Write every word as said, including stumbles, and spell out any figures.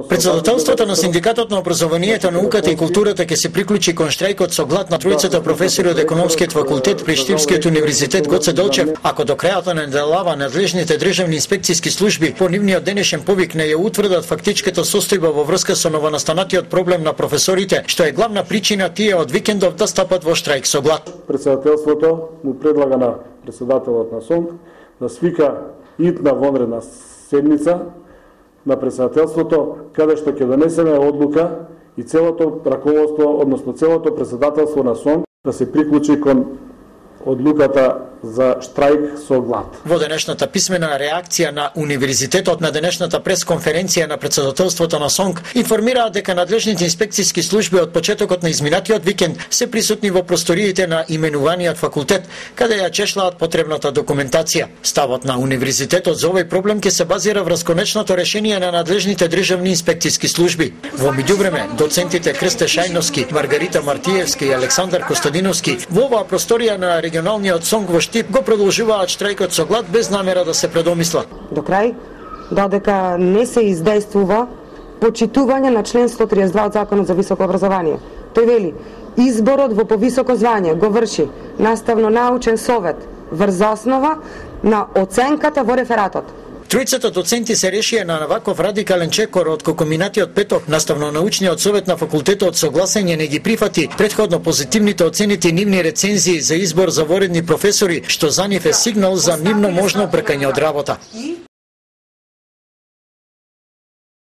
Председателството на Синдикатот на образованието, науката и културата ќе се приклучи кон штрајкот со глад на тројцата професори од Економскиот факултет при Штипскиот универзитет Гоце Делчев, ако до крајот на неделава надлежните државни инспекциски служби по нивниот денешен повик не ја утврдат фактичката состојба во врска со новонастанатиот проблем на професорите, што е главна причина тие од викендов да стапат во штрајк со глад. Председателството му предлага на председателот на СОНК да свика итна вонредна седница на председателството, каде што ќе донесеме одлука и целото раководство, односно целото председателство на СОНК да се приклучи кон одлуката за штрајк со глад. Во денешната писмена реакција на универзитетот на денешната пресконференција на председателството на СОНК информираат дека надлежните инспекциски служби од почетокот на изминатиот викенд се присутни во просториите на именуваниот факултет, каде ја чешлаат потребната документација. Ставот на универзитетот за овој проблем ќе се базира врз конечното решение на надлежните државни инспекциски служби. Во меѓувреме, доцентите Крсте Шајновски, Маргарита Мартиевски и Александар Костадиновски во оваа просторија на регионалниот СОНК во Штип го продолжуваат штрајкот со глад без намера да се предомисла. До крај, додека не се издействува почитување на член сто триесет и два од Законот за високо образование. Тој вели, изборот во повисоко звање го врши наставно-научен совет врз основа на оценката во рефератот. Тројцата доценти се решија на ваков радикален чекор од кога минатиот петок наставно-научниот совет на факултетот со гласање не ги прифати претходно позитивните оценити нивни рецензии за избор за воредни професори, што за нив е сигнал за нивно можно бркање од работа.